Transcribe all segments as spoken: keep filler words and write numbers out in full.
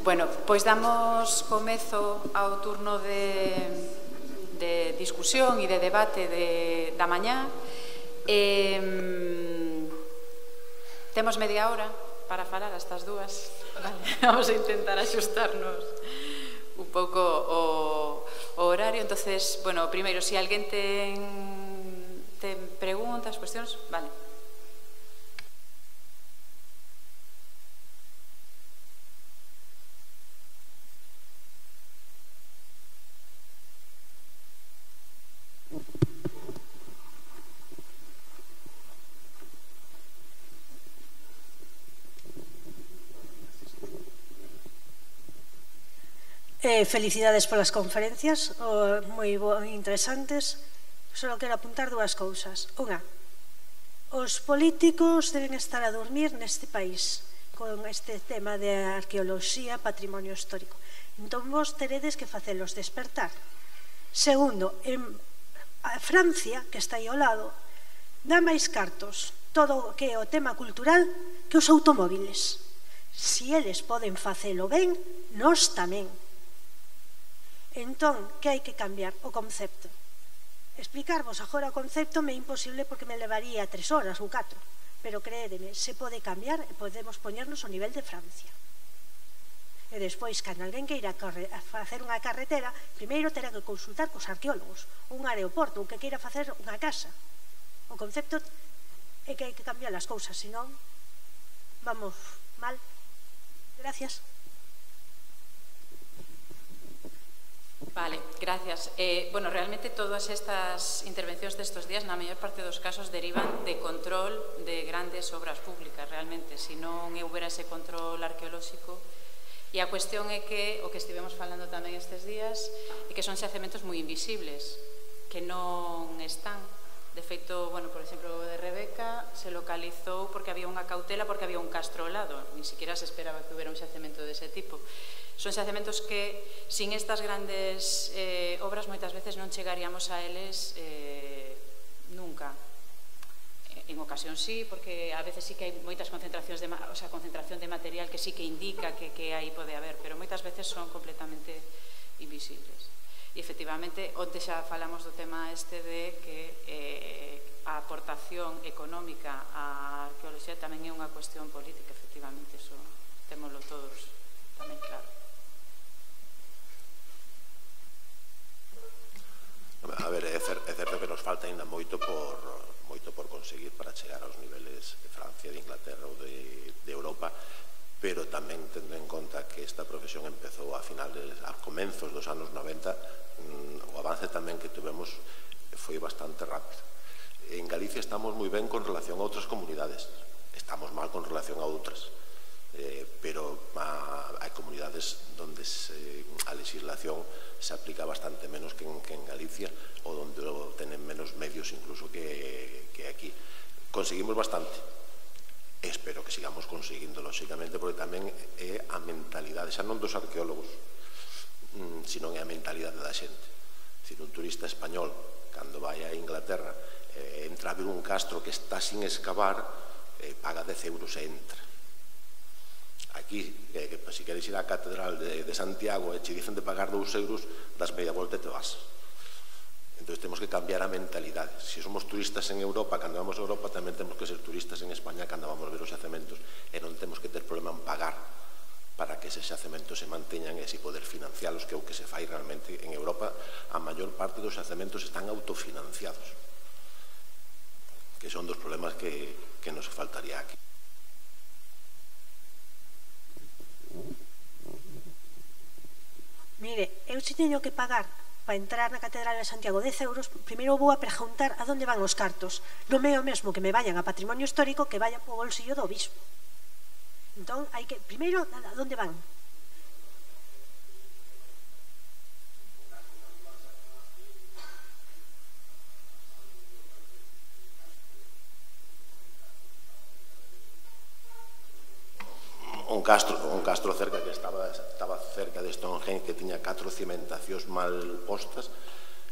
Bueno, pois damos comezo ao turno de, de discusión e de debate de, da mañá. Eh, temos media hora para falar a estas dúas. Vale, vamos a intentar axustarnos un pouco o, o horario. Entonces, bueno, primeiro, se si alguén ten, ten preguntas, cuestións, vale. Eh, felicidades polas conferencias, oh, moi interesantes. Só quero apuntar dúas cousas. Unha, os políticos deben estar a dormir neste país con este tema de arqueoloxía, patrimonio histórico. Entón vos teredes que facelos despertar. Segundo, en Francia, que está aí ao lado, dá máis cartos todo o que é o tema cultural que os automóviles. Si eles poden facelo ben, nós tamén. Entón, que hai que cambiar? O concepto. Explicarvos agora o concepto me é imposible porque me levaría tres horas ou catro, pero créedeme, se pode cambiar e podemos poñernos ao nivel de Francia. E despois, cando alguén queira facer unha carretera, primeiro terá que consultar cos arqueólogos, un aeroporto, ou que queira facer unha casa. O concepto é que hai que cambiar as cousas, senón vamos mal. Gracias. Vale, gracias. Eh, bueno, realmente todas estas intervencións destes días, na maior parte dos casos, derivan de control de grandes obras públicas, realmente. Se non houbera ese control arqueolóxico. E a cuestión é que, o que estivemos falando tamén estes días, é que son xacementos moi invisibles, que non están. De feito, bueno, por exemplo, o de Rebeca se localizou porque había unha cautela, porque había un castro ao lado. Ni siquiera se esperaba que houbera un xacemento dese tipo. Son xacementos que, sin estas grandes eh, obras, moitas veces non chegaríamos a eles eh, nunca. En ocasión sí, porque a veces sí que hai moitas concentracións de, o sea, concentración de material que sí que indica que, que aí pode haber, pero moitas veces son completamente invisibles. E, efectivamente, onte xa falamos do tema este de que eh, a aportación económica á arqueoloxía tamén é unha cuestión política, efectivamente, eso témolo todos tamén claro. A ver, é certo que nos falta ainda moito por moito por conseguir para chegar aos niveles de Francia, de Inglaterra ou de, de Europa, pero tamén tendo en conta que esta profesión empezou a finales, a comenzos dos anos noventa, o avance tamén que tuvemos foi bastante rápido. En Galicia estamos moi ben con relación a outras comunidades, estamos mal con relación a outras, eh, pero a, hai comunidades onde se, a legislación se aplica bastante menos que en, que en Galicia, ou onde tenen menos medios incluso que, que aquí. Conseguimos bastante. Espero que sigamos conseguindo, lóxicamente, porque tamén é a mentalidade, xa non dos arqueólogos, sino é a mentalidade da xente. Se un turista español, cando vai a Inglaterra, eh, entra a ver un castro que está sin excavar, eh, paga dez euros e entra. Aquí, eh, que, se queres ir á Catedral de, de Santiago e che dicen de pagar dous euros, das media volta e te vas. Entón, temos que cambiar a mentalidade. Se somos turistas en Europa, cando vamos a Europa, tamén temos que ser turistas en España cando vamos a ver os xacementos, e non temos que ter problema en pagar para que eses xacementos se manteñan e así poder financialos, que é o que se fai realmente en Europa. A maior parte dos xacementos están autofinanciados, que son dos problemas que, que nos faltaría aquí. Mire, eu se teño que pagar para entrar na Catedral de Santiago dez euros, primeiro vou a preguntar a onde van os cartos. Non é o mesmo que me vayan a patrimonio histórico que vayan po bolsillo do obispo. Entón, hai que, primeiro, a onde van? Un castro, un castro cerca que estaba, estaba cerca de Stonehenge, que tiña catro cimentacións mal postas,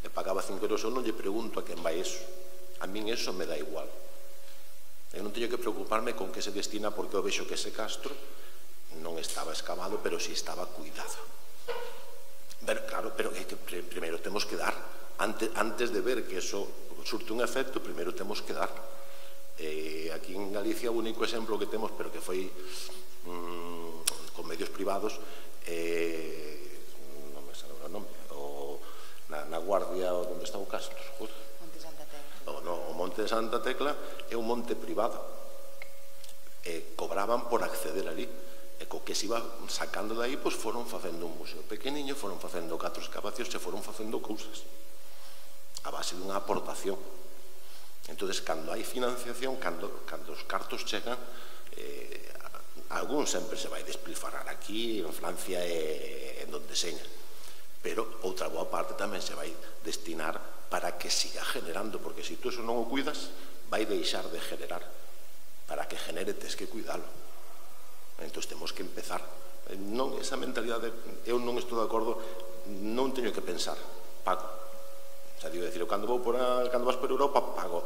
e pagaba cinco euros. Eu non lle pregunto a quen vai eso. A min eso me dá igual. Eu non teño que preocuparme con que se destina, porque eu vexo que ese castro non estaba escavado, pero si estaba cuidado. Pero, claro, pero é que primeiro temos que dar, antes, antes de ver que eso surte un efecto, primeiro temos que dar. Eh, aquí en Galicia o único exemplo que temos, pero que foi mm, con medios privados, eh, non me sale o nome, o, na, na Guardia, onde está o Castro, Monte Santa Tecla. o, no, o Monte de Santa Tecla é un monte privado, e cobraban por acceder ali, e co que se iba sacando de aí, pois foron facendo un museo pequeniño, foron facendo catro excavacións, se foron facendo cousas a base dunha aportación. Entonces, cando hai financiación, cando, cando os cartos chegan, eh, algún sempre se vai despilfarrar aquí, en Francia e en donde seña, pero outra boa parte tamén se vai destinar para que siga generando, porque se tú eso non o cuidas, vai deixar de generar. Para que genere, tes que cuidalo. Entón, temos que empezar. Non, esa mentalidade, eu non estou de acordo, non teño que pensar, pago. O sea, digo, decir, cando, vou por a, cando vas por Europa, pago.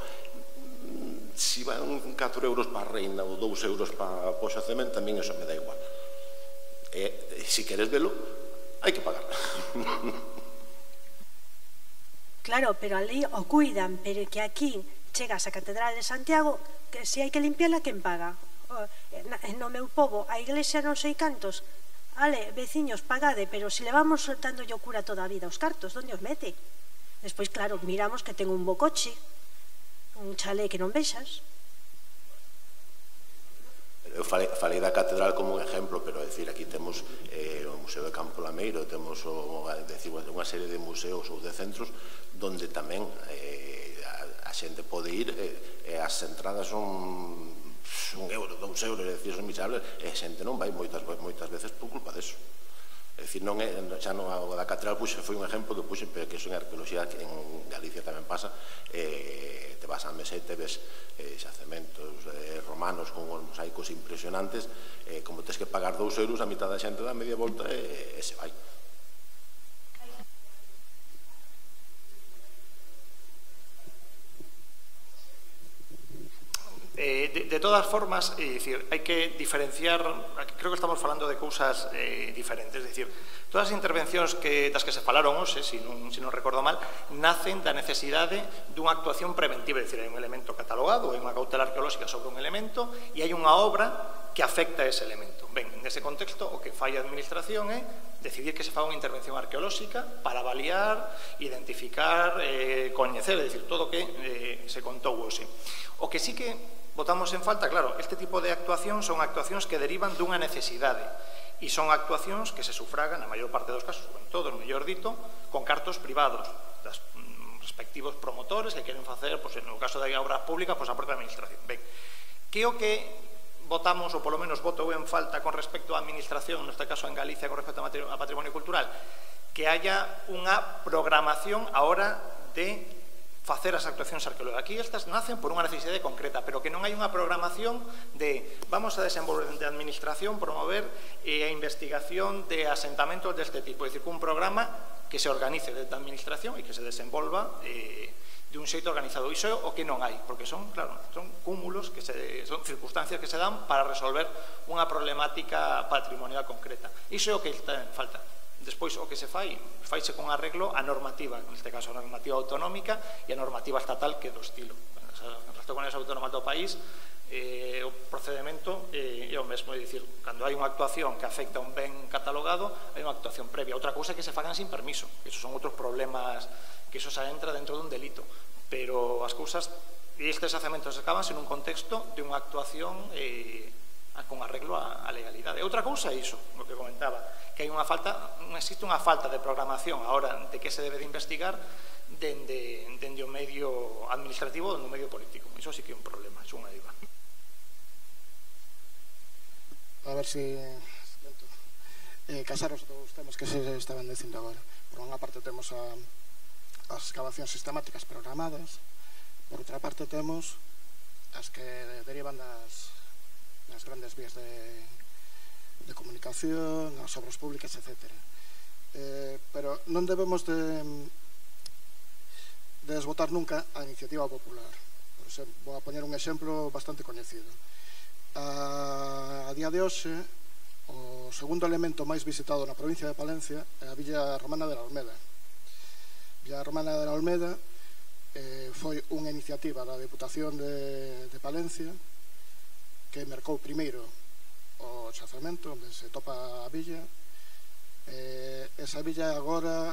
Si van catro euros para a reina ou dous euros para o xacemento, tamén eso me dá igual. E, se queres velo, hai que pagar. Claro, pero ali o cuidan, pero que aquí chegas á Catedral de Santiago, que se hai que limpiala, quen paga? No meu pobo, a iglesia non sei cantos. Ale, veciños, pagade, pero se levamos dando yo cura toda a vida os cartos, onde os mete? Despois, claro, miramos que ten un bo coche, un chalé que non vexas. Eu falei, falei da catedral como un exemplo, pero é dicir, aquí temos eh, o Museo de Campo Lameiro, temos o, decir, unha serie de museos ou de centros donde tamén eh, a, a xente pode ir e eh, as entradas son un euro, dous euros, é dicir, son miserables, e a xente non vai moitas, moitas veces por culpa deso. É dicir, non é, xa non a da catedral puxe, foi un exemplo que puxe, pero que eso en arqueoloxía, que en Galicia tamén pasa, eh, te vas a Mesete, ves eh, xacementos eh, romanos con mosaicos impresionantes, eh, como tens que pagar dous euros, a mitad da xente dá media volta e, e se vai. Eh, de, de todas formas, é dicir, hai que diferenciar, creo que estamos falando de cousas eh, diferentes, é dicir, todas as intervencións que, das que se falaron hoxe, se non, se non recordo mal, nacen da necesidade dunha actuación preventiva, é dicir, hai un elemento catalogado, hai unha cautela arqueolóxica sobre un elemento e hai unha obra que afecta a ese elemento. Ben, nese contexto, o que fai a administración é decidir que se faga unha intervención arqueolóxica para avaliar, identificar, eh, coñecer, é dicir, todo o que eh, se contou hoxe. O que sí que botamos en falta, claro, este tipo de actuacións son actuacións que derivan dunha necesidade e son actuacións que se sufragan, na maior parte dos casos, ou en todos, mellor dito, con cartos privados das mm, respectivos promotores que queren facer, pois, no caso de obras públicas, pois, a propia administración. Ben, que o que votamos, ou polo menos voto en falta con respecto á administración, neste caso en Galicia, con respecto a patrimonio cultural, que haya unha programación a hora de facer as actuacións arqueológicas. Aquí estas nacen por unha necesidade concreta, pero que non hai unha programación de vamos a desenvolver de administración, promover eh, a investigación de asentamentos deste tipo. É dicir, un programa que se organice desde a administración e que se desenvolva eh, de un xeito organizado. Iso é o que non hai, porque son, claro, son cúmulos, que se, son circunstancias que se dan para resolver unha problemática patrimonial concreta. Iso é o que está en falta. Despois, o que se fai, faise con arreglo a normativa, neste caso a normativa autonómica e a normativa estatal que é do estilo. En resto con as autónomas do país, eh, o procedimento eh, é o mesmo, é dicir, cando hai unha actuación que afecta un ben catalogado, hai unha actuación previa. Outra cousa é que se fagan sin permiso, que esos son outros problemas, que eso se entra dentro dun delito, pero as cousas, e estes hacementos acabanse nun contexto de unha actuación eh, con arreglo á legalidade. Outra cousa é iso, o que comentaba, que hai unha falta, existe unha falta de programación a hora de que se debe de investigar dende, dende o medio administrativo ou dende o medio político. Iso sí que é un problema, é unha diva. A ver se eh, casaros dos temas que se estaban dicindo agora. Por unha parte temos a, as excavacións sistemáticas programadas, por outra parte temos as que derivan das, das grandes vías de de comunicación, as obras públicas, etcétera. Eh, pero non debemos de, de desbotar nunca a iniciativa popular. Por exemplo, vou a poñer un exemplo bastante coñecido. A, a día de hoxe, O segundo elemento máis visitado na provincia de Palencia é a Villa Romana de la Olmeda. Villa Romana de la Olmeda eh, foi unha iniciativa da Deputación de, de Palencia que mercou primeiro o xacemento onde se topa a villa. Eh, esa villa agora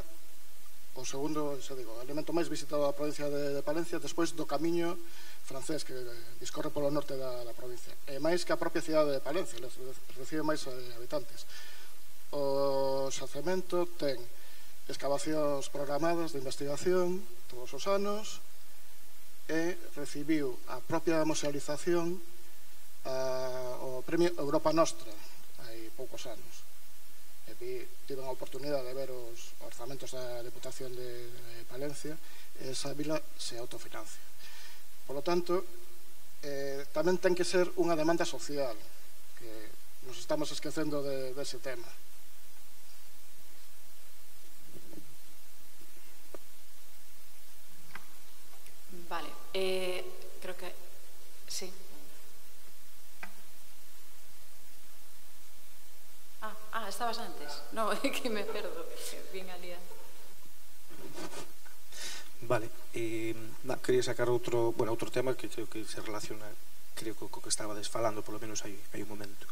o segundo, se digo, elemento máis visitado da provincia de, de Palencia despois do camiño francés que discorre polo norte da, da provincia. E máis que a propia cidade de Palencia, recibe máis habitantes. O xacemento ten excavacións programadas de investigación todos os anos e recibiu a propia musealización a, o premio Europa Nostra hai poucos anos. E tive a oportunidade de ver os orzamentos da Deputación de, de Palencia e esa vila se autofinancia. Por lo tanto, eh, tamén ten que ser unha demanda social, que nos estamos esquecendo de, de ese tema. Vale, eh, creo que sí. Ah, ah, estabas antes. No, é que me perdo, que vin ali. Vale, eh, na, quería sacar outro, bueno, outro tema que creo que se relaciona, creo que co que estabades falando, polo menos hai, hai un momento.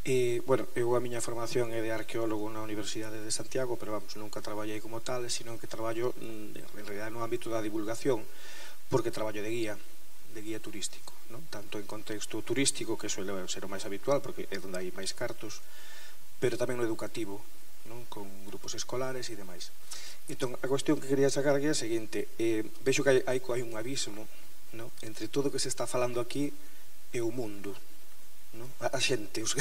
Eh, bueno, eu a miña formación é de arqueólogo na Universidade de Santiago, pero vamos, nunca traballei como tal, sino que traballo en realidad no ámbito da divulgación, porque traballo de guía, de guía turístico, ¿no? Tanto en contexto turístico, que suele ser o máis habitual, porque é onde hai máis cartos, pero tamén no educativo, non? Con grupos escolares e demais. Entón, a cuestión que quería sacar aquí é a seguinte: eh, vexo que hai, hai, hai un abismo, non? Entre todo o que se está falando aquí e o mundo, non? A, a xente, os...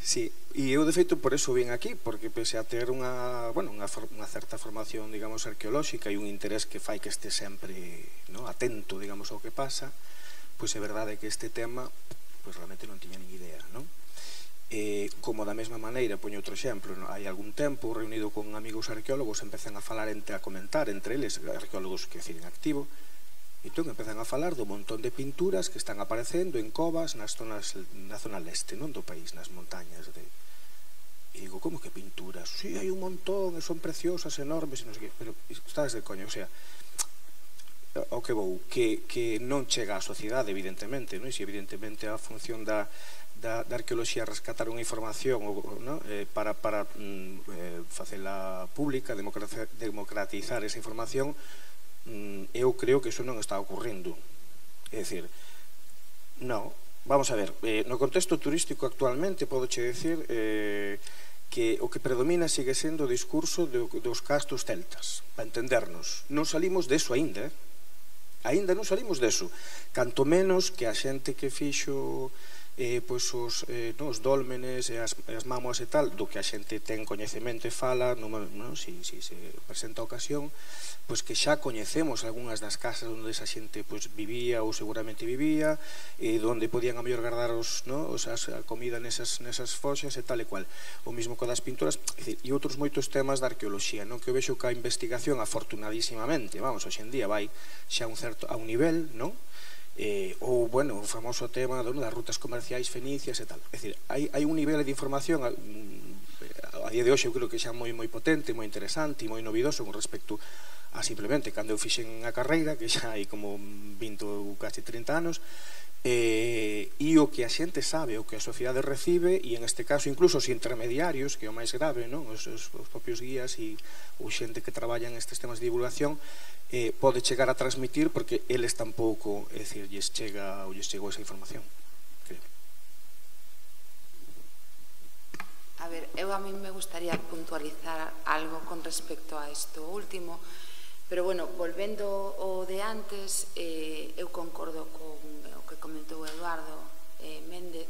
sí, e eu de feito por eso vim aquí, porque pese a ter unha, bueno, unha, unha certa formación, digamos, arqueolóxica e un interés que fai que este sempre, non? Atento, digamos, ao que pasa, pois é verdade que este tema pois realmente non tiña nin idea, non? Eh, como da mesma maneira, poño outro exemplo, no? Hai algún tempo reunido con amigos arqueólogos empezan a falar, entre, a comentar entre eles, arqueólogos que deciden activo, e entón empezan a falar do montón de pinturas que están aparecendo en covas nas zonas, na zona leste, non do país, nas montañas de... E digo, como que pinturas? Si, sí, hai un montón, son preciosas, enormes, e non sei que, pero estás de coño, o sea, o que vou, que, que non chega á sociedade, evidentemente, non? E se evidentemente a función da Da, da arqueoloxía rescatar unha información, ¿no? eh, para, para mm, eh, facela pública, democratizar esa información, mm, eu creo que iso non está ocurrindo. É dicir, non, vamos a ver, eh, no contexto turístico actualmente podo che decir eh, que o que predomina sigue sendo o discurso de, dos castos celtas, para entendernos. Non salimos deso aínda, eh? Aínda non salimos deso, canto menos que a xente que fixo eh, pois os, eh, no, os dólmenes e as, as mámoas e tal, do que a xente ten coñecemento e fala, no, no, si, si se presenta a ocasión, pois que xa coñecemos algunhas das casas onde esa xente pois, vivía ou seguramente vivía, e onde podían a mellor guardar os, no, os, as, a comida nesas, nesas foxas e tal e cual. O mismo co das pinturas, e, e outros moitos temas da arqueoloxía, non? Que eu vexo que a investigación, afortunadísimamente, vamos, hoxendía vai xa un certo, a un nivel, non? Eh, ou, bueno, o famoso tema no, das rutas comerciais fenicias e tal. É dicir, hai, hai un nivel de información a, a día de hoxe eu creo que xa moi moi potente, moi interesante e moi novidoso con respecto a simplemente cando eu fixen a carreira, que xa hai como vinte ou casi trinta anos, eh, e o que a xente sabe, o que a sociedade recibe, e en este caso incluso os intermediarios, que é o máis grave, non? Os, os, os propios guías e ou xente que traballa en estes temas de divulgación, eh, pode chegar a transmitir porque eles tampouco, é dicir, lles chega ou lles chegou esa información, creo. A ver, eu a mí me gustaría puntualizar algo con respecto a isto último, pero bueno, volvendo o de antes, eh, eu concordo con o que comentou Eduardo eh, Méndez,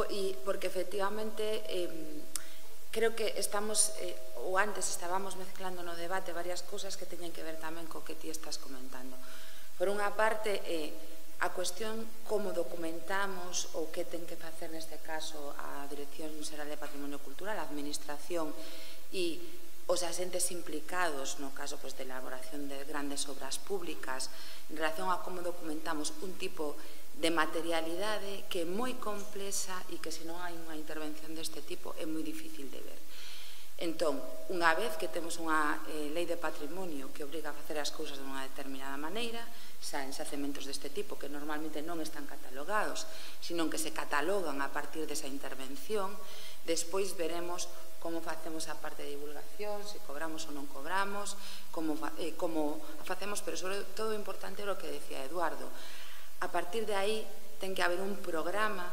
e porque efectivamente eh, creo que estamos, eh, ou antes estábamos mezclando no debate varias cousas que teñen que ver tamén co que ti estás comentando. Por unha parte, eh, a cuestión como documentamos ou que ten que facer neste caso a Dirección Xeral de Patrimonio Cultural, a Administración e os asentes implicados no caso pues, de elaboración de grandes obras públicas en relación a como documentamos un tipo de materialidade que é moi complexa e que se non hai unha intervención deste tipo é moi difícil de ver. Entón, unha vez que temos unha eh, lei de patrimonio que obriga a facer as cousas de unha determinada maneira, xa en xacementos deste tipo que normalmente non están catalogados, sino que se catalogan a partir desa intervención, despois veremos como facemos a parte de divulgación, se cobramos ou non cobramos, como, eh, como a facemos, pero sobre todo importante é o que decía Eduardo. A partir de aí ten que haber un programa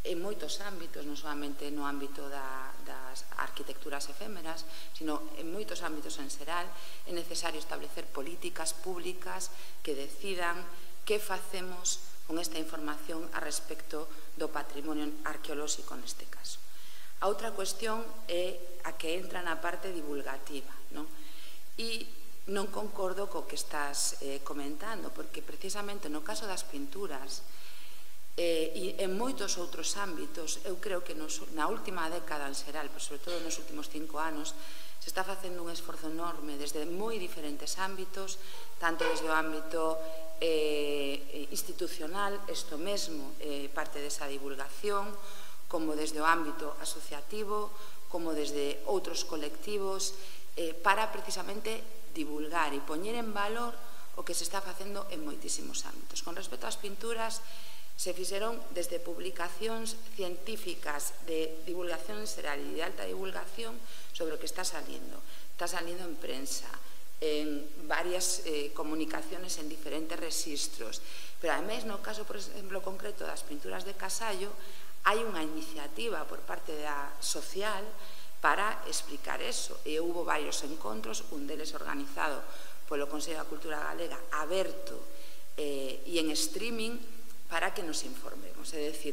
en moitos ámbitos, non solamente no ámbito da, das arquitecturas efémeras, sino en moitos ámbitos en xeral, é necesario establecer políticas públicas que decidan que facemos con esta información a respecto do patrimonio arqueolóxico neste caso. A outra cuestión é a que entra na parte divulgativa, non? E non concordo co que estás eh, comentando, porque precisamente no caso das pinturas eh, e en moitos outros ámbitos, eu creo que nos, na última década en xeral, pero sobre todo nos últimos cinco anos, se está facendo un esforzo enorme desde moi diferentes ámbitos, tanto desde o ámbito eh, institucional, isto mesmo, eh, parte desa divulgación, como desde o ámbito asociativo, como desde outros colectivos, eh, para precisamente divulgar e poñer en valor o que se está facendo en moitísimos ámbitos. Con respecto ás pinturas, se fixeron desde publicacións científicas de divulgación en xeral e de alta divulgación sobre o que está saliendo. Está saliendo en prensa, en varias eh, comunicaciones en diferentes registros. Pero, ademais, no caso, por exemplo, concreto das pinturas de Casallo, hai unha iniciativa por parte da social para explicar eso. E houve varios encontros, un deles organizado polo Consello da Cultura Galega, aberto eh, e en streaming, para que nos informemos. É dicir,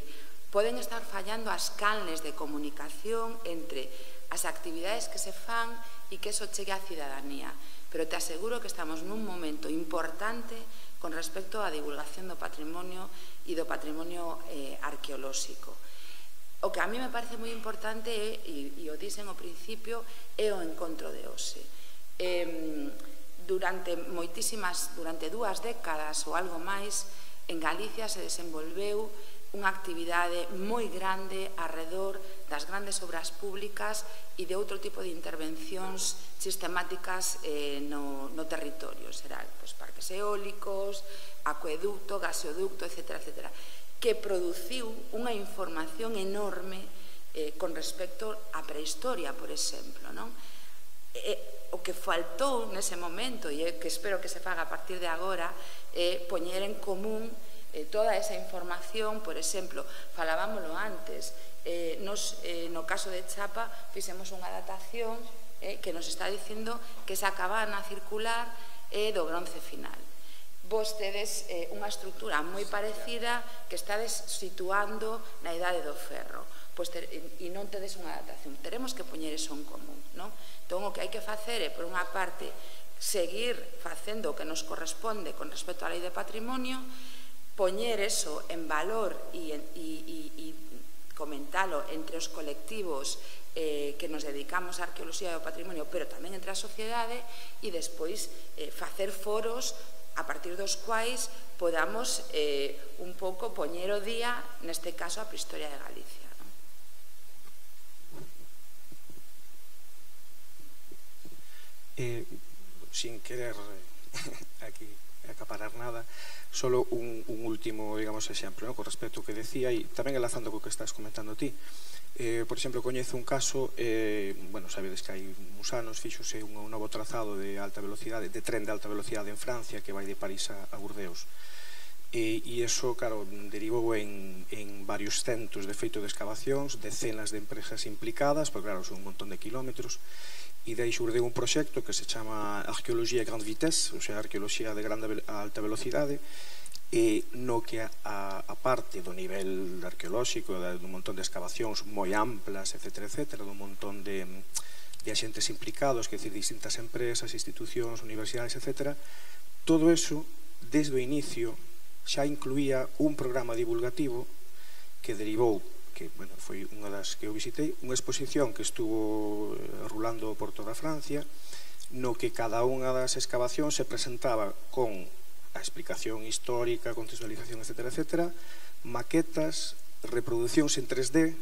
poden estar fallando as canles de comunicación entre as actividades que se fan e que eso chegue á cidadanía. Pero te aseguro que estamos nun momento importante con respecto á divulgación do patrimonio e do patrimonio eh, arqueolóxico. O que a mí me parece moi importante é, e, e o dixen ao principio, é o encontro de hoxe. Eh, durante moitísimas, durante dúas décadas ou algo máis, en Galicia se desenvolveu unha actividade moi grande arredor das grandes obras públicas e de outro tipo de intervencións sistemáticas eh, no, no territorio xeral, pois parques eólicos, acueducto, gasoducto, etcétera, etcétera, que produciu unha información enorme eh, con respecto á prehistoria, por exemplo, non? E, o que faltou nese momento, e que espero que se faga a partir de agora, é poñer en común eh, toda esa información. Por exemplo, falábamoslo antes, eh, nos, eh, no caso de Chapa fixemos unha datación eh, que nos está dicindo que esa cabana circular é do bronce final. Vos tedes eh, unha estructura moi parecida que estades situando na idade do ferro, pois ter, e non tedes unha datación. Teremos que poñer eso en común, non? Entón, o que hai que facer é, por unha parte, seguir facendo o que nos corresponde con respecto á lei de patrimonio, poñer eso en valor e, e, e, e comentalo entre os colectivos eh, que nos dedicamos á arqueoloxía do patrimonio, pero tamén entre a sociedade, e despois eh, facer foros a partir dos quais podamos eh, un pouco poñer o día, neste caso, a prehistoria de Galicia. ¿No? Eh, sin querer aquí acaparar nada, solo un, un último, digamos, exemplo, ¿no? Con respecto ao que decía, e tamén enlazando co que estás comentando ti. Eh, por exemplo, coñezo un caso, eh, bueno, sabedes que hai uns anos fíxose un, un novo trazado de alta velocidade, de tren de alta velocidade en Francia que vai de París a, a Burdeos. E, e iso, claro, derivou en, en varios centos de feito de excavacións, decenas de empresas implicadas, porque claro, son un montón de kilómetros, e dai xurdeu un proxecto que se chama Arqueoloxía Grande Vitesse, ou sea, arqueoloxía de grande a alta velocidade, e no que a, a parte do nivel arqueolóxico, dun montón de excavacións moi amplas, etcétera, etcétera, dun montón de, de axentes implicados, que decir, distintas empresas, institucións, universidades, etcétera, todo eso, desde o inicio, xa incluía un programa divulgativo que derivou, que bueno, foi unha das que eu visitei, unha exposición que estuvo rulando por toda Francia, no que cada unha das excavacións se presentaba con a explicación histórica, contextualización, etcétera, etcétera, maquetas, reproduccións en tres D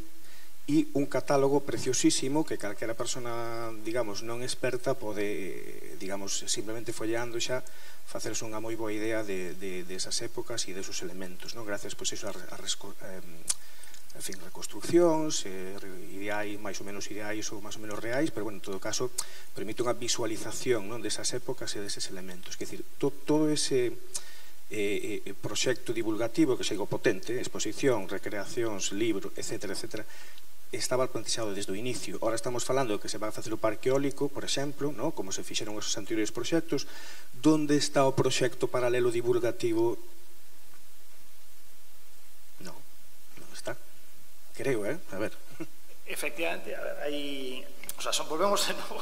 e un catálogo preciosísimo que calquera persona, digamos, non experta pode, digamos, simplemente folleando xa facerse unha moi boa idea de, de, de esas épocas e de esos elementos, non? Gracias, pois, iso, a, a, a en fin, reconstruccións, eh, ideais, máis ou menos ideais ou máis ou menos reais, pero, bueno, en todo caso, permite unha visualización, non, desas épocas e deses elementos. Quer dizer, to, todo ese eh, eh, proxecto divulgativo que seigo potente, exposición, recreacións, libro, etcétera, etcétera, estaba plantexado desde o inicio. Ahora estamos falando de que se vai facer o parque eólico, por exemplo, ¿no? Como se fixeron esos anteriores proxectos. Donde está o proxecto paralelo divulgativo? No, non está. Creo, eh? A ver. Efectivamente, a ver, aí... O sea, son, volvemos de novo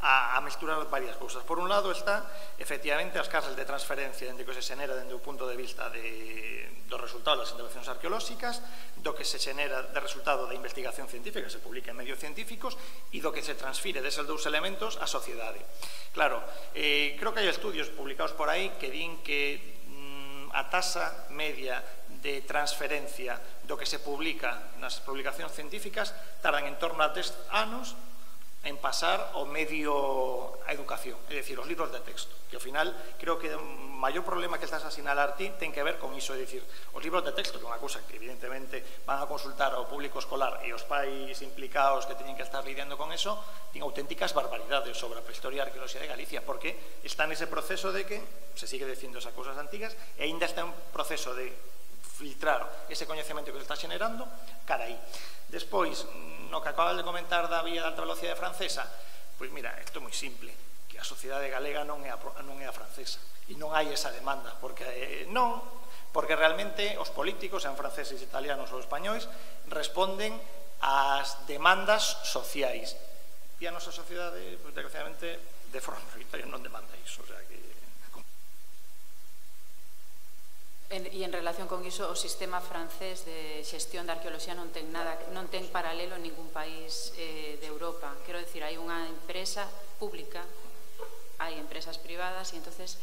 a, a mesturar varias cousas. Por un lado está, efectivamente, as casas de transferencia dende que se xenera dende o punto de vista de, do resultado das intervencións arqueolóxicas, do que se xenera de resultado da investigación científica que se publica en medios científicos e do que se transfire deses dous elementos á sociedade. Claro, eh, creo que hai estudios publicados por aí que din que mm, a tasa media de transferencia do que se publica nas publicacións científicas tardan en torno a tres anos en pasar ao medio a educación, é dicir, os libros de texto, que ao final creo que o maior problema que estás a sinalar ti ten que ver con iso, é dicir, os libros de texto, que é unha cousa que evidentemente van a consultar ao público escolar e os pais implicados que teñen que estar lidiando con eso, ten auténticas barbaridades sobre a prehistoria e a arqueoloxía de Galicia, porque está nese proceso de que se sigue dicindo esas cousas antigas e ainda está en proceso de filtrar ese coñecemento que se está xenerando cara aí. Despois, no que acabas de comentar da vía de alta velocidade francesa, pois mira, isto é moi simple, que a sociedade galega non é a, non é a francesa e non hai esa demanda, porque eh, non, porque realmente os políticos, sean franceses, italianos ou españois, responden ás demandas sociais e a nosa sociedade, pois, desgraciadamente, de forma mayoritaria non demanda iso, o sea que... En, e en relación con iso, o sistema francés de xestión da arqueoloxía non ten nada, non ten paralelo en ningún país eh, de Europa. Quero dicir, hai unha empresa pública, hai empresas privadas, e entonces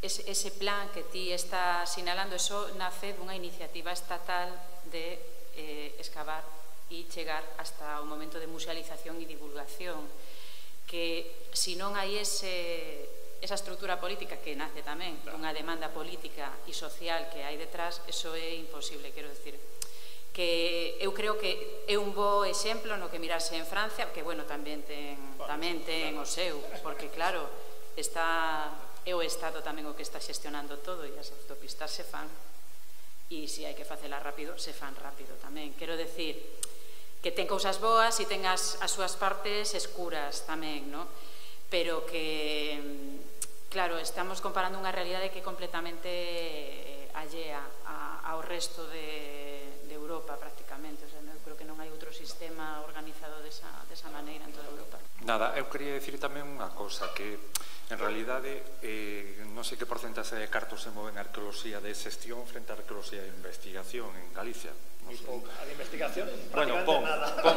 ese, ese plan que ti está sinalando, eso nace dunha iniciativa estatal de eh, excavar e chegar hasta o momento de musealización e divulgación, que se non hai ese... esa estrutura política que nace tamén dunha demanda política e social que hai detrás, eso é imposible, quero decir que eu creo que é un bo exemplo no que mirarse en Francia, que, bueno, tamén ten, tamén ten o seu, porque, claro, está, é o Estado tamén o que está xestionando todo e as autopistas se fan e se hai que facela rápido, se fan rápido tamén. Quero decir que ten cousas boas e ten as, as súas partes escuras tamén, non? Pero que... Claro, estamos comparando unha realidade que é completamente allea ao resto de, de Europa, prácticamente. O sea, eu creo que non hai outro sistema organizado desa, desa maneira en toda Europa. Nada, eu quería dicir tamén unha cosa, que en realidade eh, non sei que porcentaxe de cartos se moven a arqueoloxía de xestión frente a arqueoloxía de investigación en Galicia. No sé. A de investigación, bueno, pon, pon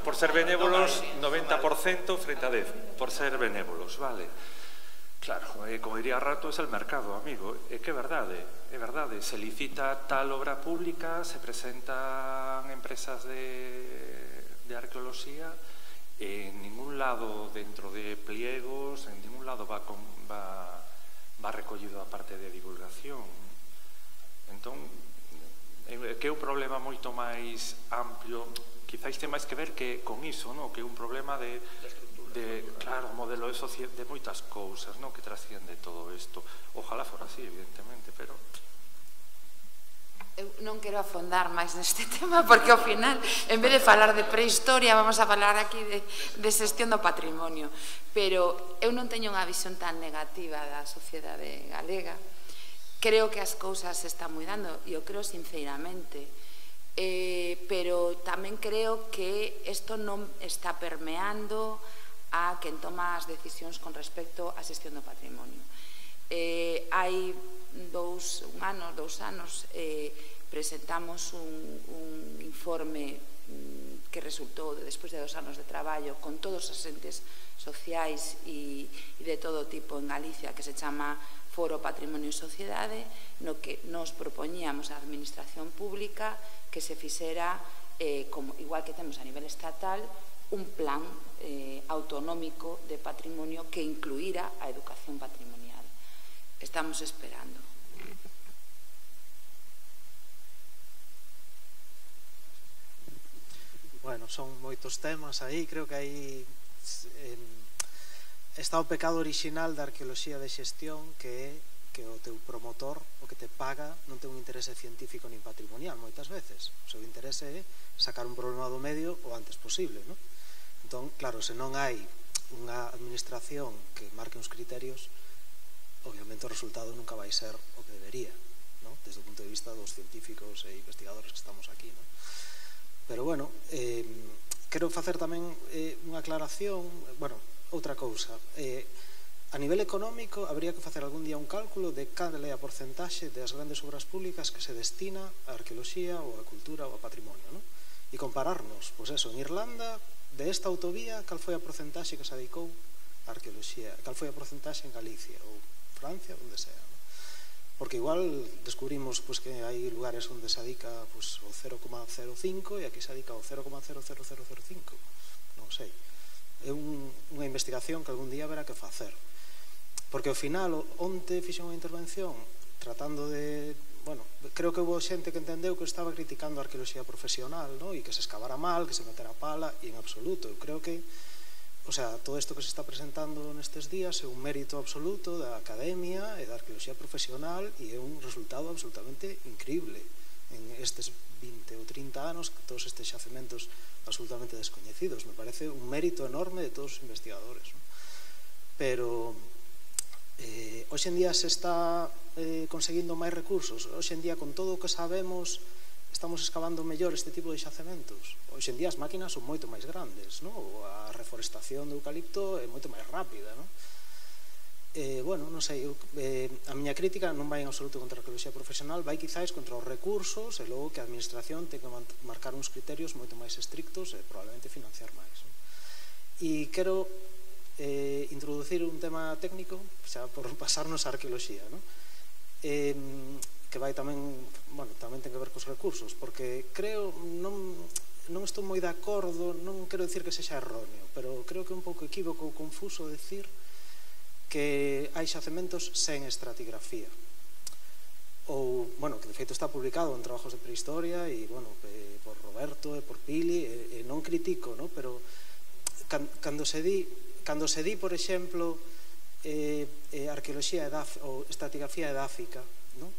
por ser benévolos noventa por cento frente a dez, por ser benévolos, vale? Claro, eh, como diría Rato, es el mercado, amigo. É que é verdade, é verdade. Se licita tal obra pública, se presentan empresas de, de arqueoloxía, en ningún lado dentro de pliegos, en ningún lado va, con, va, va recollido a parte de divulgación. Entón, que é un problema moito máis amplio, quizáis ten máis que ver que con iso, no? Que é un problema de... de, claro, modelo de sociedade, de moitas cousas, non, que trasciende todo isto. Ojalá fora así, evidentemente, pero... Eu non quero afondar máis neste tema, porque ao final, en vez de falar de prehistoria, vamos a falar aquí de, de xestión do patrimonio. Pero eu non teño unha visión tan negativa da sociedade galega. Creo que as cousas se están mudando, e eu creo sinceramente. Eh, pero tamén creo que isto non está permeando a quen toma as decisións con respecto á xestión do patrimonio. Eh, hai dous un ano, dous anos, eh, presentamos un, un informe mm, que resultou despois de dos anos de traballo con todos os entes sociais e, e de todo tipo en Galicia, que se chama Foro Patrimonio e Sociedade, no que nos propoñíamos a administración pública que se fixera, eh, como, igual que temos a nivel estatal, un plan eh, autonómico de patrimonio que incluíra a educación patrimonial. Estamos esperando. Bueno, son moitos temas aí, creo que aí eh, está o pecado orixinal da arqueoloxía de xestión, que é que o teu promotor, o que te paga, non ten un interese científico nin patrimonial moitas veces. O seu interese é sacar un problema do medio o antes posible, non? Entón, claro, se non hai unha administración que marque uns criterios, obviamente o resultado nunca vai ser o que debería, non? Desde o punto de vista dos científicos e investigadores que estamos aquí, non? Pero, bueno, eh, quero facer tamén eh, unha aclaración, bueno, outra cousa. Eh, a nivel económico, habría que facer algún día un cálculo de cal é a porcentaxe das grandes obras públicas que se destina á arqueoloxía ou á cultura ou ao patrimonio, non? E compararnos, pois eso, en Irlanda, de esta autovía, cal foi a porcentaxe que se dedicou á arqueoloxía, cal foi a porcentaxe en Galicia ou Francia, onde sea, non? Porque igual descubrimos pues, que hai lugares onde se dedica pues, o cero coma cero cinco e aquí se dedica o cero coma cero cero cero cero cinco, non sei. É un, unha investigación que algún día haberá que facer. Porque ao final, onte fixen unha intervención tratando de... Bueno, creo que houve xente que entendeu que estaba criticando a arqueoloxía profesional, ¿no? E que se escavara mal, que se metera pala, e en absoluto. Eu creo que, o sea, todo isto que se está presentando nestes días é un mérito absoluto da academia e da arqueoloxía profesional e é un resultado absolutamente increíble en estes vinte ou trinta anos, todos estes xacementos absolutamente descoñecidos. Me parece un mérito enorme de todos os investigadores, ¿no? Pero... Eh, hoxe en día se está eh, conseguindo máis recursos. Hoxe en día, con todo o que sabemos, estamos excavando mellor este tipo de xacementos. Hoxe en día as máquinas son moito máis grandes, ¿no? A reforestación do eucalipto é moito máis rápida, ¿no? Eh, bueno, non sei, eu, eh, a miña crítica non vai en absoluto contra a arqueoloxía profesional, vai quizáis contra os recursos e logo que a administración ten que marcar uns criterios moito máis estrictos e probablemente financiar máis, ¿no? E quero eh, introducir un tema técnico xa por pasarnos a arqueoloxía, ¿no? Eh, que vai tamén, bueno, tamén ten que ver cos recursos, porque creo, non, non estou moi de acordo, non quero dicir que sexa erróneo, pero creo que é un pouco equívoco ou confuso decir que hai xacementos sen estratigrafía. Ou, bueno, que de feito está publicado en trabajos de prehistoria e, bueno, eh, por Roberto e por Pili, e, e non critico, ¿no? Pero can, cando se di Cando se di, por exemplo, eh, eh, arqueoloxía ou estratigrafía edáfica, ¿no?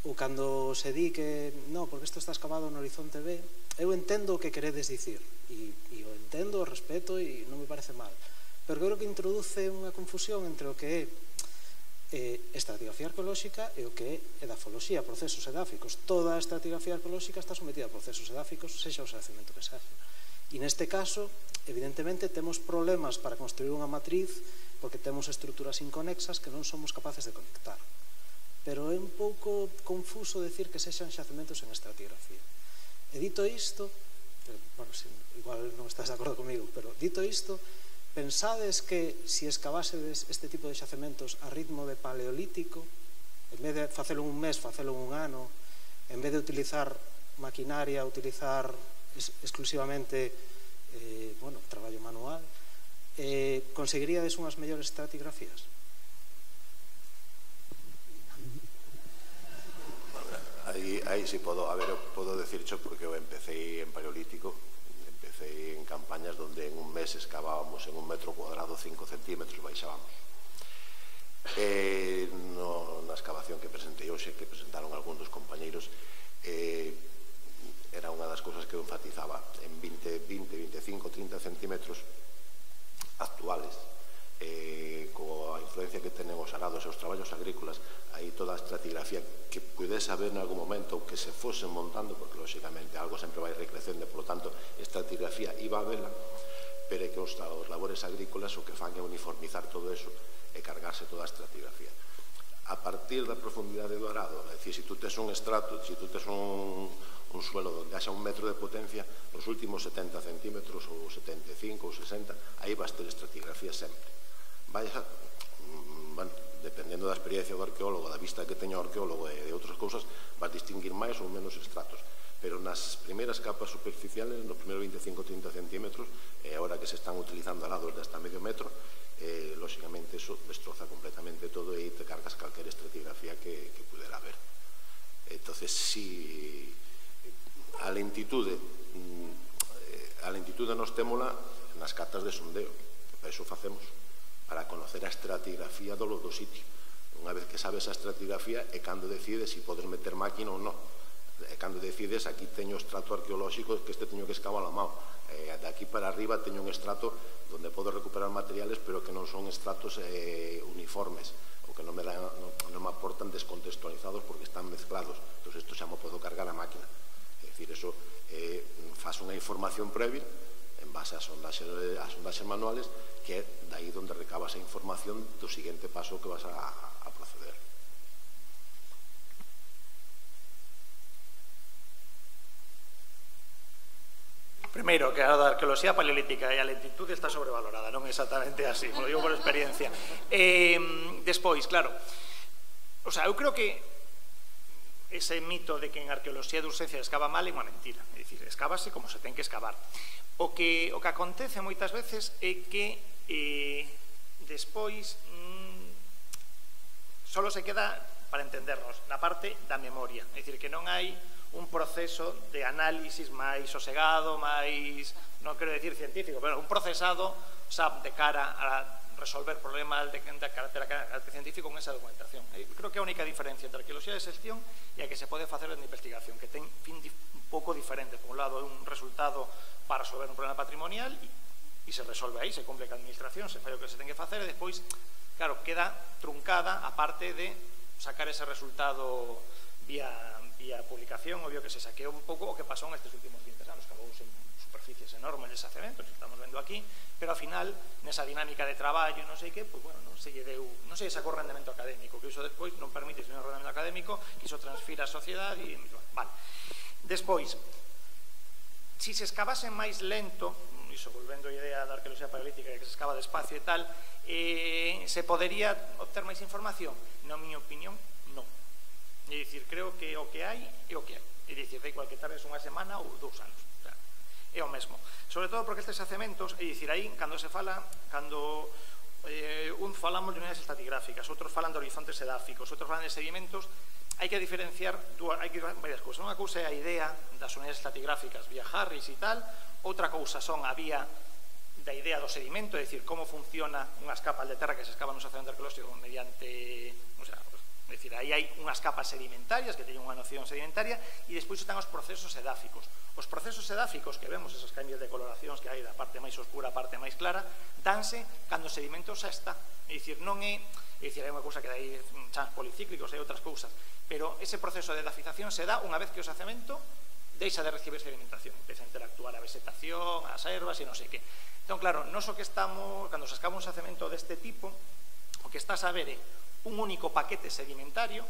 Ou cando se di que, no, porque isto está excavado no Horizonte B, eu entendo o que queredes dicir, e, e o entendo, o respeto, e non me parece mal. Pero creo que introduce unha confusión entre o que é eh, estratigrafía arqueolóxica e o que é edafoloxía, procesos edáficos. Toda a estratigrafía arqueolóxica está sometida a procesos edáficos, sexa o xacemento que sexa. E neste caso, evidentemente, temos problemas para construir unha matriz porque temos estruturas inconexas que non somos capaces de conectar. Pero é un pouco confuso decir que sexan xacementos en estratigrafía. E dito isto, bueno, igual non estás de acordo comigo, pero dito isto, pensades que se escavásedes este tipo de xacementos a ritmo de paleolítico, en vez de facelo un mes, facelo un ano, en vez de utilizar maquinaria, utilizar exclusivamente eh, bueno, traballo manual, eh, conseguiríades unhas mellores estratigrafías? Aí, aí si podo, a ver, eu podo decircho porque eu empecé en paleolítico, empecé en campañas donde en un mes excavábamos en un metro cuadrado cinco centímetros, baixábamos. Eh, no, na excavación que presentei hoxe, que presentaron algúns dos compañeiros, eh, era unha das cousas que eu enfatizaba en vinte, vinte, veinticinco, trinta centímetros actuales, eh, coa influencia que tenen os arados e os traballos agrícolas, aí toda a estratigrafía que pudese haber en algún momento ou que se fose montando, porque lóxicamente algo sempre vai recrecendo, por lo tanto estratigrafía iba a vela, pero é que os, os labores agrícolas o que fan é uniformizar todo eso e cargarse toda a estratigrafía. A partir da profundidade do arado, é dicir, se tú tes un estrato, se tú tes un un suelo onde haxa un metro de potencia, nos últimos setenta centímetros ou setenta e cinco ou sesenta, aí vas ter estratigrafía sempre. Vai a, bueno, dependendo da experiencia do arqueólogo, da vista que teña o arqueólogo e de outras cousas, vas distinguir máis ou menos estratos. Pero nas primeiras capas superficiales, nos primeiros veinticinco a trinta centímetros, e agora que se están utilizando alados de hasta medio metro, eh, lóxicamente eso destroza completamente todo e te cargas calquera estratigrafía que, que pudera haber. Entonces, si a lentitude a lentitude nos témola nas cartas de sondeo, que para iso facemos, para conocer a estratigrafía do, do sitio. Unha vez que sabes a estratigrafía é cando decides se si podes meter máquina ou non. É cando decides, aquí teño estrato arqueolóxico que este teño que escavar a mão. Eh, de aquí para arriba teño un estrato donde podo recuperar materiales pero que non son estratos eh, uniformes ou que non me, dan, non, non me aportan descontextualizados porque están mezclados. Entón, isto xa me podo cargar a máquina. É dicir, eso eh, faz unha información previa en base a sondaxes, a sondaxes manuales que é daí onde recabas a información do seguinte paso que vas a, a proceder. Primeiro, que a da arqueoloxía paleolítica e a lentitude está sobrevalorada, non é exactamente así, lo digo por experiencia. Eh, despois, claro, o sea, eu creo que ese mito de que en arqueoloxía de urxencia escava mal é unha mentira, é dicir, escávase como se ten que escavar. O que, o que acontece moitas veces é que eh, despois mmm, solo se queda, para entendernos, na parte da memoria, é dicir, que non hai un proceso de análisis máis sosegado, máis, non quero decir científico, pero un procesado, o sea, de cara a resolver problemas de, de carácter científico con esa documentación. Eu creo que a única diferencia entre a arqueoloxía de xestión e a que se pode facer en investigación, que ten fin un pouco diferente. Por un lado, é un resultado para resolver un problema patrimonial e, e se resolve aí, se cumple que a administración, se fai o que se ten que facer e despois, claro, queda truncada a parte de sacar ese resultado vía, vía publicación, obvio que se saqueou un pouco o que pasou nestes últimos vinte anos, cavouse en superficies enormes de xacementos, que estamos vendo aquí, pero ao final, nesa dinámica de traballo, non sei que, pois, bueno, non se lle deu, non se sacou rendemento académico, que iso despois non permite un rendemento académico, que iso transfira a sociedade e, vale. Despois, si se escavase máis lento, iso volvendo a idea da arqueoloxía paleolítica, que se escava despacio e tal, eh, se podería obter máis información? Na miña opinión, non. É dicir, creo que o que hai é o que hai. É dicir, da igual que tardes unha semana ou dous anos. É o mesmo. Sobre todo porque estes xacementos, é dicir, aí, cando se fala, cando eh, un falamos de unidades estratigráficas, outros falan de horizontes edáficos, outros falan de sedimentos, hai que diferenciar dúas, hai que varias cousas. Unha cousa é a idea das unidades estratigráficas vía Harris e tal, outra cousa son a vía da idea do sedimento, é dicir, como funciona unhas capas de terra que se escavan no xacemento arqueolóxico mediante, o sea, é dicir, aí hai unhas capas sedimentarias que teñen unha noción sedimentaria e despois están os procesos edáficos. Os procesos edáficos que vemos, esos cambios de coloracións que hai da parte máis oscura á parte máis clara, danse cando o sedimento xa está. É dicir, non é, é dicir, hai unha cousa que hai chans policíclicos, hai outras cousas, pero ese proceso de edafización se dá unha vez que o xacemento deixa de recibir sedimentación, empeza a interactuar a vegetación, as ervas e non sei que. Entón, claro, nos o que estamos, cando se escava un xacemento deste tipo, o que estás a ver é un único paquete sedimentario,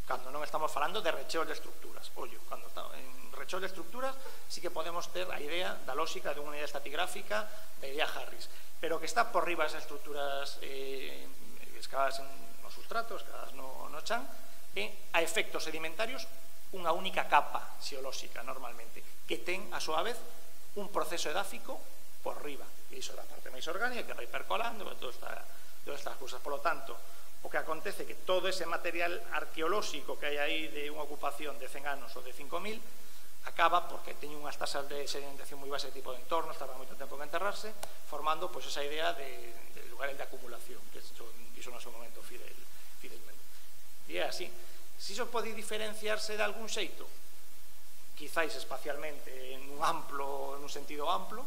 cando non estamos falando de recheos de estructuras. Ollo, cando está en recheos de estructuras sí que podemos ter a idea da lógica de unha unidade estratigráfica da idea Harris, pero que está por riba das estructuras eh, escavadas nos sustratos, escavadas no, no chan, e a efectos sedimentarios unha única capa xeolóxica normalmente, que ten a súa vez un proceso edáfico por riba, e iso é a parte máis orgánica que vai percolando, todas estas cousas. Por lo tanto, o que acontece é que todo ese material arqueolóxico que hai aí de unha ocupación de cen anos ou de cinco mil acaba porque teñen unhas tasas de sedimentación moi baixas de tipo de entorno, tarda moito tempo en enterrarse, formando pois esa idea de, de lugares de acumulación, que iso no seu momento fidel, fidelmente. E é así. Si iso pode diferenciarse de algún xeito, quizáis espacialmente en un amplo, en un sentido amplo,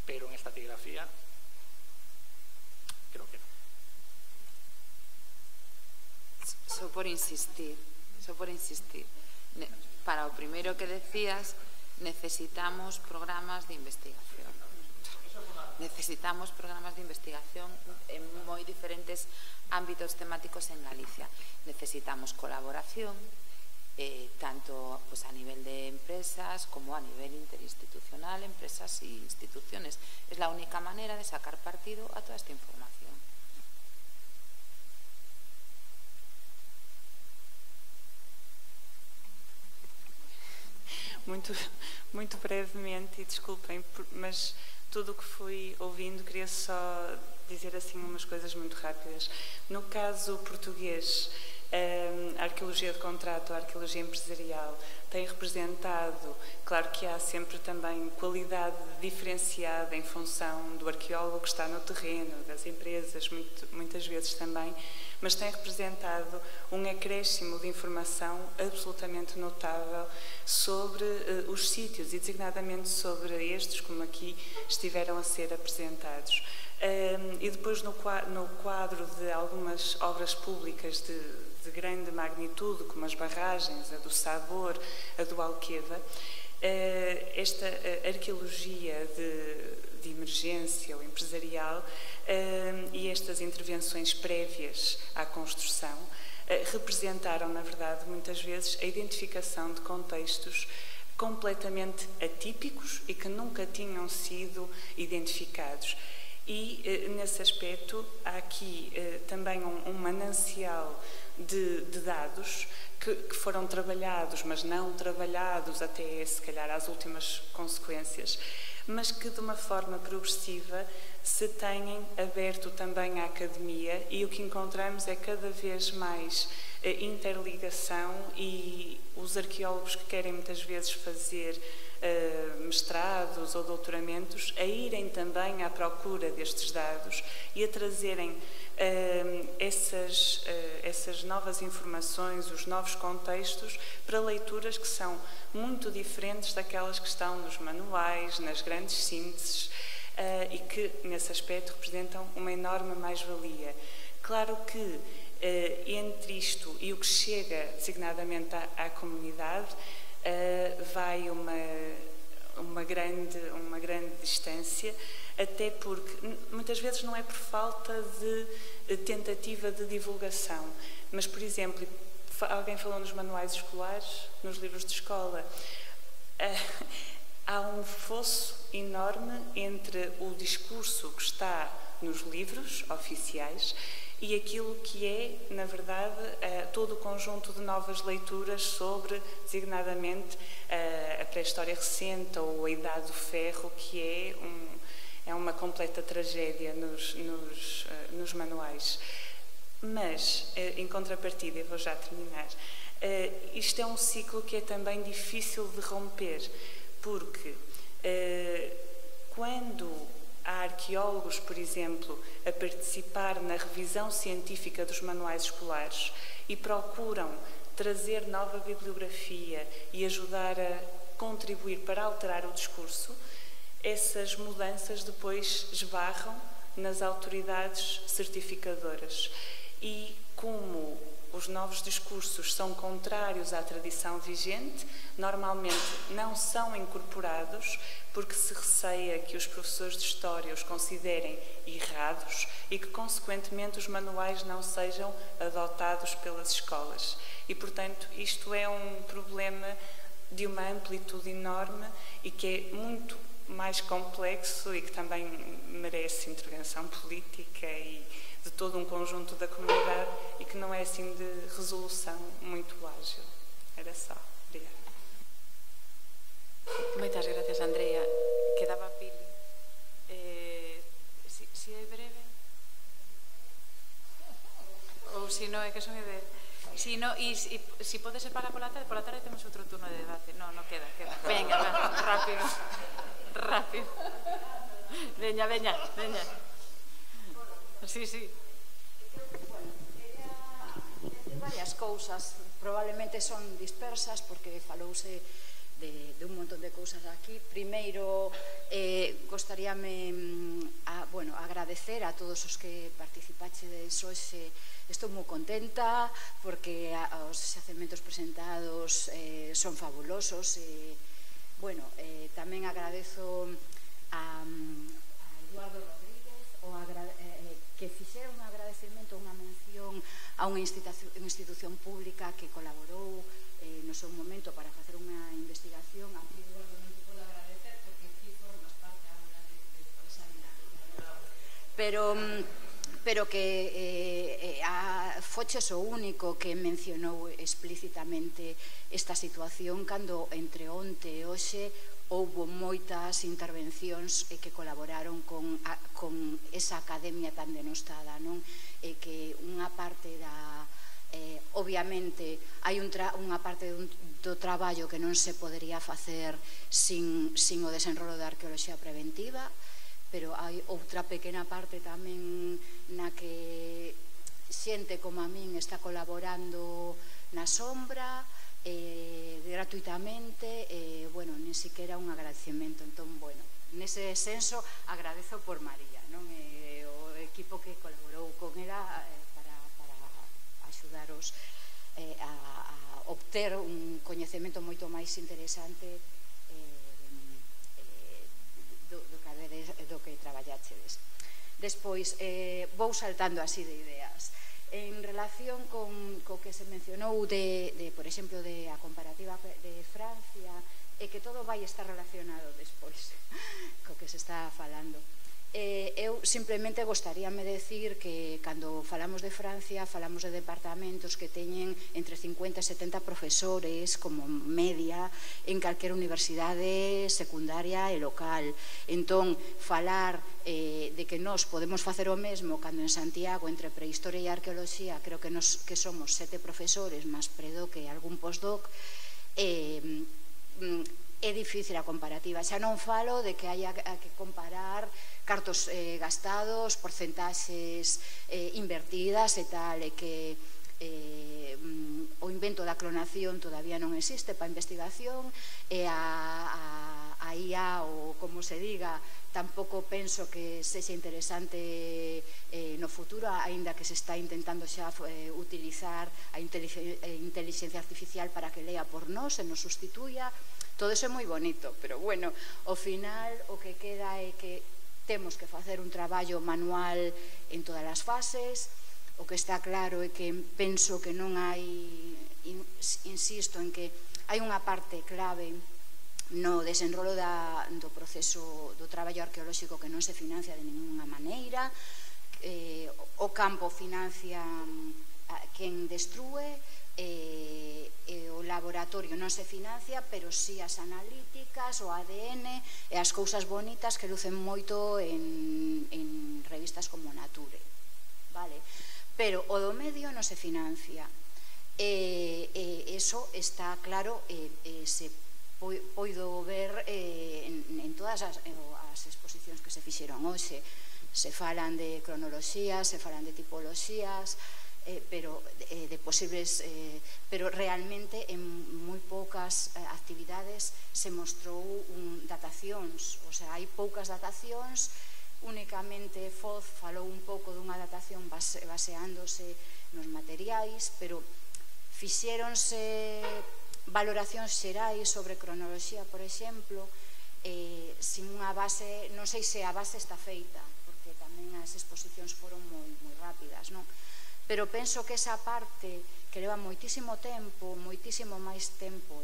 pero en estratigrafía creo que non. Só por insistir, só por insistir. Para o primeiro que decías, necesitamos programas de investigación. Necesitamos programas de investigación en moi diferentes ámbitos temáticos en Galicia. Necesitamos colaboración, eh, tanto pues, a nivel de empresas como a nivel interinstitucional, empresas e instituciones. Es la única manera de sacar partido a toda esta información. muito, muito brevemente, e desculpem, mas tudo o que fui ouvindo, queria só dizer assim umas coisas muito rápidas. No caso português, a arqueologia de contrato, a arqueologia empresarial, tem representado, claro que há sempre também qualidade diferenciada em função do arqueólogo que está no terreno, das empresas, muito, muitas vezes também, mas tem representado um acréscimo de informação absolutamente notável sobre uh, os sítios e designadamente sobre estes, como aqui estiveram a ser apresentados. Um, e depois no, no quadro de algumas obras públicas de, de grande magnitude, como as barragens, a do Sabor, a do Alqueva, uh, esta uh, arqueologia de, de emergência ou empresarial uh, e estas intervenções prévias à construção uh, representaram, na verdade, muitas vezes a identificação de contextos completamente atípicos e que nunca tinham sido identificados. E, nesse aspecto, há aqui eh, também um, um manancial de, de dados que, que foram trabalhados, mas não trabalhados até, se calhar, às últimas consequências, mas que, de uma forma progressiva, se têm aberto também à academia, e o que encontramos é cada vez mais eh, interligação, e os arqueólogos que querem muitas vezes fazer Uh, mestrados ou doutoramentos a irem também à procura destes dados e a trazerem uh, essas, uh, essas novas informações, os novos contextos, para leituras que são muito diferentes daquelas que estão nos manuais, nas grandes sínteses, uh, e que, nesse aspecto, representam uma enorme mais-valia. Claro que uh, entre isto e o que chega designadamente à, à comunidade, Uh, vai uma, uma, grande, uma grande distância, até porque muitas vezes não é por falta de, de tentativa de divulgação, mas, por exemplo, alguém falou nos manuais escolares, nos livros de escola, uh, há um fosso enorme entre o discurso que está nos livros oficiais e aquilo que é, na verdade, uh, todo o conjunto de novas leituras sobre, designadamente, uh, a pré-história recente ou a Idade do Ferro, que é, um, é uma completa tragédia nos, nos, uh, nos manuais. Mas, uh, em contrapartida, eu vou já terminar, uh, isto é um ciclo que é também difícil de romper, porque uh, quando há arqueólogos, por exemplo, a participar na revisão científica dos manuais escolares e procuram trazer nova bibliografia e ajudar a contribuir para alterar o discurso, essas mudanças depois esbarram nas autoridades certificadoras. E como os novos discursos são contrários à tradição vigente, normalmente não são incorporados porque se receia que os professores de História os considerem errados e que, consequentemente, os manuais não sejam adotados pelas escolas. E, portanto, isto é um problema de uma amplitude enorme e que é muito mais complexo e que também merece intervenção política e de todo um conjunto da comunidade e que não é assim de resolução muito ágil. Era só. Obrigada. Moitas gracias, Andrea. Quedaba Pili. Eh, si, si é breve? Ou se non é que son de... Si no, e si, si pode ser para pola tarde, pola tarde temos outro turno de debate. No, no queda, queda. Venga, va, rápido. Rápido. Veña, veña, veña. Sí, sí. Varias cousas, probablemente son dispersas porque falouse de, de un montón de cousas aquí. Primeiro, eh, gostaríame a, bueno, agradecer a todos os que participaxedes hoxe. Estou moi contenta porque a, os xacementos presentados eh, son fabulosos. E, bueno, eh, tamén agradezo a, a Eduardo Rodríguez o agra, eh, que fixera un agradecemento, unha mención a unha institución, unha institución pública que colaborou eh, no seu momento para facer unha investigación. A ti, Eduardo, non te podo agradecer porque ti formas parte agora de, de esa dinámica, pero, pero que eh, eh, a, foches o único que mencionou explícitamente esta situación cando entre onte e hoxe houbo moitas intervencións que colaboraron con esa academia tan denostada, non? E que unha parte da... Obviamente, hai unha parte do traballo que non se podería facer sin o desenrolo da arqueoloxía preventiva, pero hai outra pequena parte tamén na que xente como a min está colaborando na sombra gratuitamente e, bueno, nin siquiera un agradecemento. Entón, bueno, nese senso agradezo por María, non? O equipo que colaborou con ela para axudaros a obter un coñecemento moito máis interesante do que traballachedes. Despois, vou saltando así de ideas. En relación con co que se mencionou de, por exemplo, de a comparativa de Francia, e que todo vai estar relacionado despois co que se está falando. Eu simplemente gostaríame decir que cando falamos de Francia falamos de departamentos que teñen entre cincuenta e setenta profesores como media en calquera universidade secundaria e local. Entón, falar de que nós podemos facer o mesmo cando en Santiago entre prehistoria e arqueoloxía creo que somos sete profesores máis predo que algún postdoc, é difícil a comparativa. Xa non falo de que haya que comparar cartos gastados, porcentaxes invertidas e tal, e que o invento da clonación todavía non existe para investigación, e a I A, ou como se diga, tampouco penso que sexa interesante no futuro, aínda que se está intentando xa utilizar a inteligencia artificial para que lea por nós e nos sustituya. Todo iso é moi bonito, pero bueno, ao final o que queda é que temos que facer un traballo manual en todas as fases. O que está claro é que penso que non hai, insisto en que hai unha parte clave no desenrolo do proceso do traballo arqueolóxico que non se financia de ninguna maneira. O campo financia quen destrúe, e o laboratorio non se financia, pero si as analíticas, o A D N e as cousas bonitas que lucen moito en revistas como Nature, vale? Pero o do medio non se financia, e iso está claro, e se poido ver en todas as exposicións que se fixeron hoxe. Se falan de cronoloxías, se falan de tipoloxías, pero de posibles, pero realmente en moi poucas actividades se mostrou datacións, o sea, hai poucas datacións. Únicamente Foz falou un pouco dunha datación baseándose nos materiais, pero fixéronse valoracións xerais sobre cronoloxía, por exemplo, sin unha base, non sei se a base está feita, porque tamén as exposicións foron moi rápidas, non? Pero penso que esa parte que leva moitísimo tempo, moitísimo máis tempo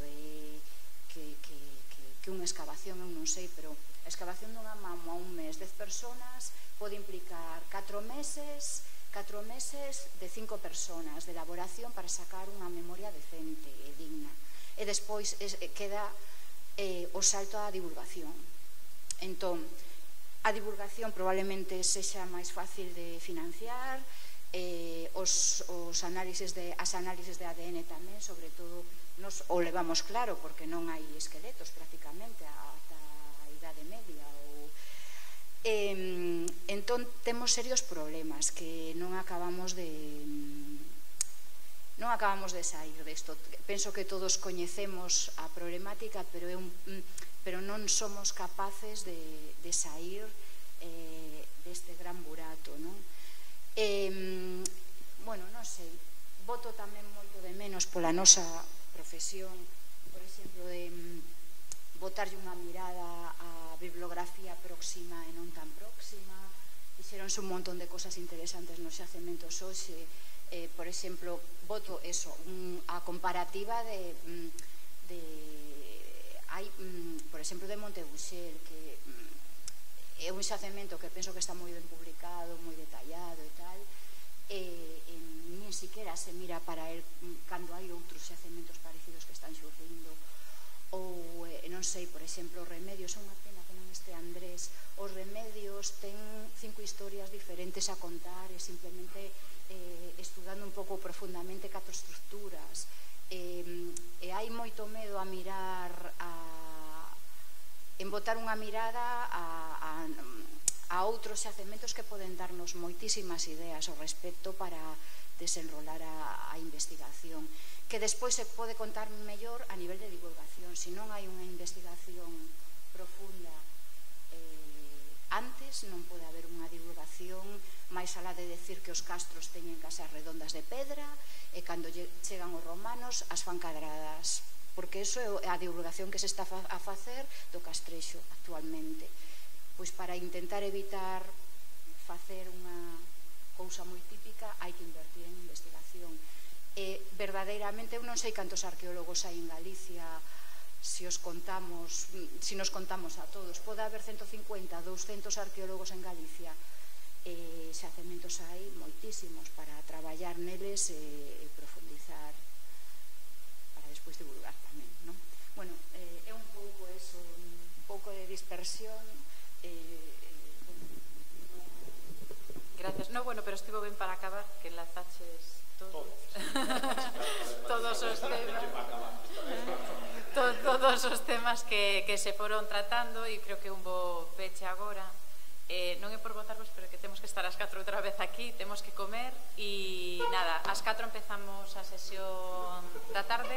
que unha excavación, eu non sei, pero a excavación dunha mamo a un mes, dez personas, pode implicar catro meses, catro meses de cinco personas de elaboración para sacar unha memoria decente e digna. E despois queda o salto á divulgación. Entón, a divulgación probablemente sexa máis fácil de financiar, os análises de A D N tamén, sobre todo, nos o levamos claro porque non hai esqueletos prácticamente ata a idade media. Entón, temos serios problemas que non acabamos de non acabamos de sair desto. Penso que todos coñecemos a problemática, pero non somos capaces de sair deste gran burato, non? Bueno, non sei, voto tamén moito de menos pola nosa profesión, por exemplo, de botarlle unha mirada á bibliografía próxima e non tan próxima. Fixeronse un montón de cosas interesantes nos xacementos hoxe. Por exemplo, voto eso, a comparativa de hai, por exemplo, de Montebuxer, que é un xacemento que penso que está moi ben publicado, moi detallado e tal, e, e nin siquiera se mira para el cando hai outros xacementos parecidos que están xurdindo, ou, eh, non sei, por exemplo, Remedios, é unha pena que non este Andrés, os Remedios ten cinco historias diferentes a contar e simplemente eh, estudando un pouco profundamente catro estructuras, e, e hai moito medo a mirar a, en botar unha mirada a, a, a outros xacementos que poden darnos moitísimas ideas ao respecto para desenrolar a, a investigación, que despois se pode contar mellor a nivel de divulgación. Se non hai unha investigación profunda eh, antes, non pode haber unha divulgación máis alá de decir que os castros teñen casas redondas de pedra e cando chegan os romanos as fan cadradas, porque iso é a divulgación que se está a facer do castrexo actualmente. Pois para intentar evitar facer unha cousa moi típica hai que invertir en investigación. E verdadeiramente eu non sei cantos arqueólogos hai en Galicia, se os contamos, se nos contamos a todos, pode haber ciento cincuenta, doscientos arqueólogos en Galicia, e xacementos hai moitísimos para traballar neles e, e profundizar para despois divulgar tamén, non? Bueno, eh, é un pouco eso, un pouco de dispersión. eh, eh, bueno. Gracias. No, bueno, pero estivo ben para acabar que enlazaches todos todos os temas todos os temas que, que se foron tratando, e creo que un bo peche agora. Eh, non é por votarvos, pero que temos que estar ás catro outra vez aquí, temos que comer, e nada, ás catro empezamos a sesión da tarde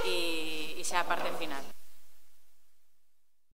e, e xa a parte final.